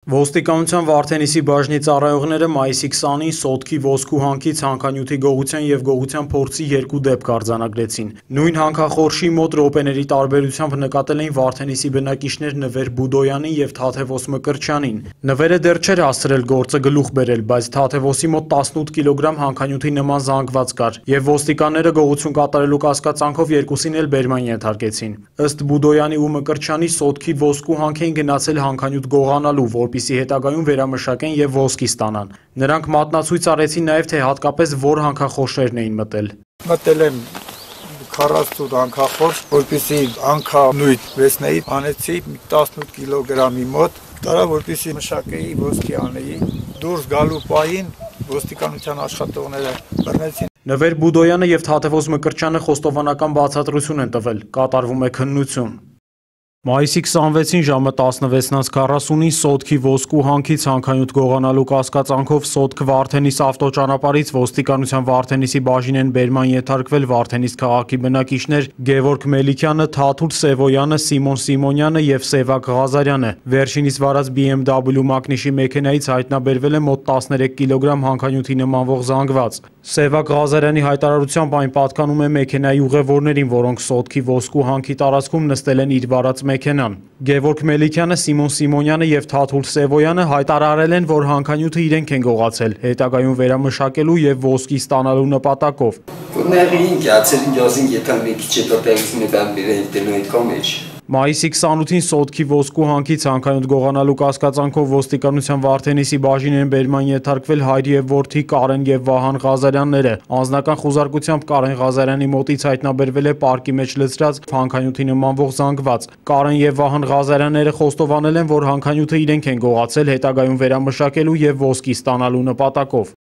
Ոստիկանության Վարդենիսի բաժնի ծառայողները մայիսի 20-ին սոտքի ոսկու հանքի ցանկանյութի գողության և գողության փորձի 2 դեպք արձանագրեցին։ Նույն հանքախորշի մոտ րոպեների տարբերությամբ նկատել էին Վարդենիսի բնակիչներ Նվեր Բուդոյանին և Թաթևոս Մկրտչյանին։ Նվերը դեռ չէր հասցրել գործը գլուխ բերել, բայց Թաթևոսի մոտ 18 կիլոգրամ հանքանյութի նման զանգված կար, և ոստիկանները գողություն կատարելու կասկածանքով երկուսին էլ բերման ենթարկեցին։ Ըստ Բուդոյանի ու Մկրտչյանի սոտքի ոսկու հանք էին գնացել հանքանյութ գողանալու, որպեսզի հետագայում վերամշակեն և ոսկի ստանան։ Նրանք մատնացույց արեցին նաև, թե հատկապես որ հանքախորշերն էին մտել։ Մտել եմ 48 հանքախորշ, որպեսզի հանքանյութ վերցնեի, անեցի 18 կիլոգրամի մոտ, տարա որպեսզի մշակեի, ոսկի անեի։ Դուրս գալու պահին ոստիկանության աշխատողները բռնեցին։ Նվեր Բուդոյանը և Թաթևոս Մկրտչյանը խոստովանական բացատրություն են տվել, կատարվում է քննություն։ Մայիսի 26-ին ժամը 16:40-ին սոտքի ոսկու հանքի ցանկանյութ գողանալու կասկածանքով Սոտք Վարդենիս ավտոճանապարհից ոստիկանության Վարդենիսի բաժին են բերման ենթարկվել Վարդենիս քաղաքի բնակիչներ Գևորգ Մելիքյանը, Թաթուլ Սևոյանը, Սիմոն Սիմոնյանը և Սևակ Ղազարյանը։ Վերջինիս վարած BMW մակնիշի մեքենայից հայտնաբերվել է մոտ 13 կիլոգրամ հանքանյութի նմանվող զանգված։ Սևակ Ղազարյանի հայտարարությամբ այն պատկանում է մեքենայի ուղևորներին, որոնք սոտքի ոսկու հանքի տարածքում նստել են իր վարած մեքենան։ Գևորգ Մելիքյանը, Սիմոն Սիմոնյանը և Թաթուլ Սևոյանը հայտարարել են, որ հանքանյութը իրենք են գողացել, հետագայում վերամշակելու և ոսկի ստանալու նպատակով։ Մայիսի 28-ին սոտքի ոսկու հանքի ցանկանյութ գողանալու կասկածանքով ոստիկանության Վարդենիսի բաժին են բերման ենթարկվել հայր և որդի Կարեն և Վահան Ղազարյանները։ Անձնական խուզարկությամբ Կարեն Ղազարյանի մոտից հայտնաբերվել է պարկի մեջ լցրած հանքանյութի նմանվող զանգված։ Կարեն և Վահան Ղազարյանները խոստովանել են, որ հանքանյութը իրենք են գողացել, հետագայում վերամշակելու և ոսկի ստանալու նպատակով։